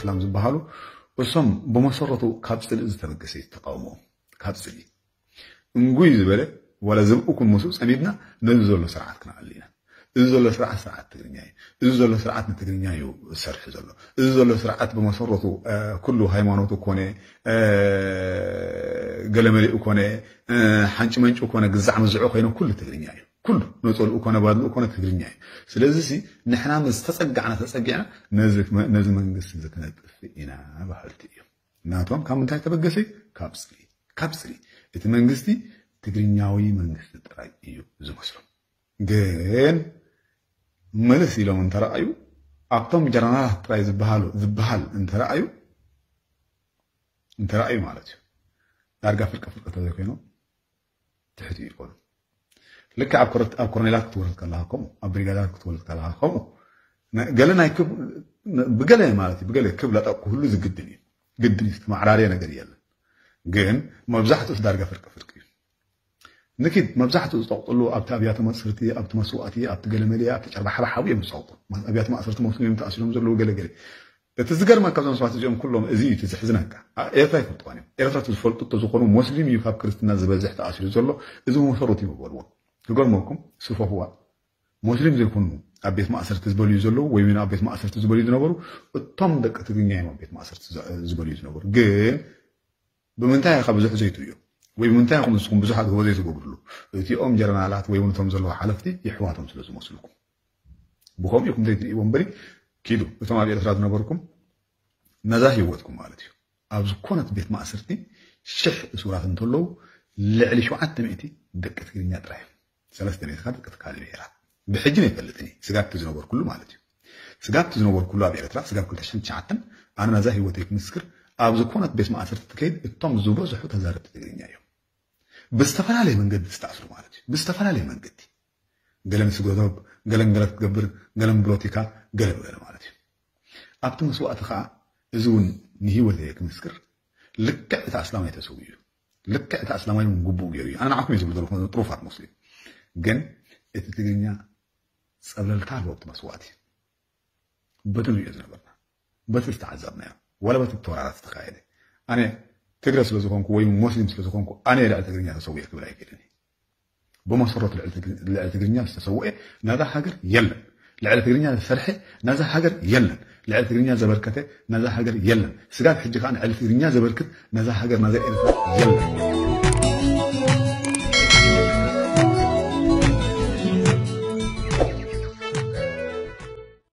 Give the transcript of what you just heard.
ሰላም ዝበሃሉ እሶም ብመሰረቱ ካብ ጽልኢ ዝተበገሰ እዩ ተቃውሞ። ካብ ጽልኢ እንጉይ ዝበለ ዋላ ዝብኡ ኩን ምስኡ ጸሚድና ነዚ ዘሎ ስርዓት ክነኣሊ ኢና። እዚ ዘሎ ስርዓት ስርዓት ትግርኛ እዩ። እዚ ዘሎ ስርዓት ንትግርኛ እዩ ዝሰርሕ ዘሎ። እዚ ዘሎ ስርዓት ብመሰረቱ ኩሉ ሃይማኖቱ ኮነ ገለመሊኡ ኮነ ሓንጭ መንጭ ኮነ ግዛዕ ምዝዑ ኮይነ ኩሉ ትግርኛ እዩ። ኩሉ ነፀልኡ ኮነ ባድልኡ ኮነ ትግርኛ እዩ። ስለዚ ንሕና ምስ ተፀጋዕና ተፀጊዕና ነዚ መንግስቲ እዚ ክነጥፍእ ኢና በሃልቲ እዮም። ናቶም ካብ ምንታይ ተበገሰ? ካብ ጽልኢ። ካብ ጽልኢ። እቲ መንግስቲ ትግርኛዊ መንግስቲ ጥራይ እዩ ዝመስሎም። ግን ምልስ ኢሎም እንተረኣዩ ኣብቶም ጀነራላት ጥራይ ዝበሃሉ ዝበሃል እንተረኣዩ እንተረኣዩ ማለት እዩ ዳርጋ ፍርቂ ፍርቂ ተዘይኮይኖም ትሕቲ ይኮኑ። ልክዕ ኣብ ኮረኔላት ክትወርድ ከለካ ከምኡ ኣብ ብሪጋዳት ክትወርድ ከለካ ከምኡ ገለ ናይ ክብ ብገለ ማለት እዩ ብገለ ክብ ለጠቅ ክህሉ ዝግድን እዩ። ግድን እዩ። ዝተማዕራርየ ነገር የለን። ግን መብዛሕትኡ ዳርጋ ፍርቂ ፍርቂ እዩ። ንኪድ መብዛሕትኡ ዝጠቕጥሉ ኣብቲ ኣብያተ መፅርቲ ኣብቲ መስዋእቲ ኣብቲ ገለመለ ኣብቲ ጨርባሓባሓቡ እዮም ዝፀቕጡ። ኣብያተ ማእሰርቲ መስሉ እዮም ተኣሲሮም ዘለዉ ገለገለ። እቲ ዝገርመካ እዞም ሰባት እዚኦም ኩሎም እዚ እዩ እቲ ዝሕዝነካ። ኤርትራ ይፈልጥዋን እዮም። ኤርትራ እቲ ዝፈልጡ ተዝኾኑ ሞስሊም እዩ ካብ ክርስትና ዝበዝሕ ተኣሲሩ ዘሎ። እዚ መሰረቱ እዩ በልዎም። ክገርመኩም ስፈህዋ ሞስሊም ዘይኮኑ ኣብ ቤት ማእሰርቲ ዝበልዩ ዘለዉ ወይ ኣብ ቤት ማእሰርቲ ዝበልዩ ዝነበሩ እቶም ደቂ ትግርኛ እዮም ኣብ ቤት ማእሰርቲ ዝበልዩ ዝነበሩ። ግን ብምንታይ ኢኻ ብዙሕ ዘይትርእዮ ወይ ብምንታይ ኢኹም ንስኹም ብዙሓት ጎበዘይ ትገብርሉ? እቲኦም ጀረናላት ወይ እውን እቶም ዘለዉ ሓለፍቲ የሕዋቶም ስለ ዝመስልኩም ብኸምኡ ኢኹም ዘይትርእይዎ እምበሪ ኪዱ እቶም ኣብ ኤርትራ ዝነበርኩም ነዛ ህይወትኩም ማለት እዩ። ኣብ ዝኾነት ቤት ማእሰርቲ ሽሕ እሱራት እንተለዉ ልዕሊ ሸውዓተ ሚእቲ ደቂ ትግርኛ ጥራይ እዮም። ሰለስተ ሚእቲ ደቂ ካልእ ብሄራት ብሕጂ ኣይፈልጥን እየ። ስጋብቲ ዝነበርኩሉ ማለት እዩ። ስጋብቲ ዝነበርኩሉ ኣብ ኤርትራ ስጋብ ክልተ ሽሕን ትሽዓተን ኣነ ነዛ ህይወተይ ክምስክር ኣብ ዝኾነት ቤት ማእሰርቲ ትከይድ እቶም ዝበዝሑ ተዛረብቲ ትግርኛ እዮም። ብዝተፈላለየ መንገዲ ዝተኣስሩ ማለት እዩ። ብዝተፈላለየ መንገዲ ገለ ንስግረዶብ ገለን ገለ ክትገብር ገለን ብሎቲካ ገለ ብገለ ማለት እዩ። ኣብቲ መስዋእቲ ከዓ እዚ እውን ንህይወተይ ክምስክር ልክዕ እቲ ኣስላማይ ተሰዊኡ እዩ። ልክዕ እቲ ኣስላማይ እውን ግቡእ ገይሩ እዩ። ኣነ ንዓኹም እየ ዝብል ዘለኹ ጥሩፋት ሙስሊም። ግን እቲ ትግርኛ ፀብለልታ ኣለዎ ኣብቲ መስዋእቲ። በቲ ንሪኦ ዝነበርና በቲ ዝተዓዘብናዮ ዋላ በቲ ተወራራት ዝተካየደ ኣነ ትግረ ስለ ዝኾንኩ ወይ ሙስሊም ስለ ዝኾንኩ ኣነ ልዕሊ ትግርኛ ተሰዊኤ ክብል ኣይክእልን እየ። ብመሰረቱ ልዕሊ ትግርኛ ዝተሰውኤ ናዛ ሃገር የለን። ልዕሊ ትግርኛ ዝሰርሐ ናዛ ሃገር የለን። ልዕሊ ትግርኛ ዘበርከተ ናዛ ሃገር የለን። ስጋብ ሕጂ ከዓ ንዕሊ ትግርኛ ዘበርክት ናዛ ሃገር ናዛ ኤርትራ የለን።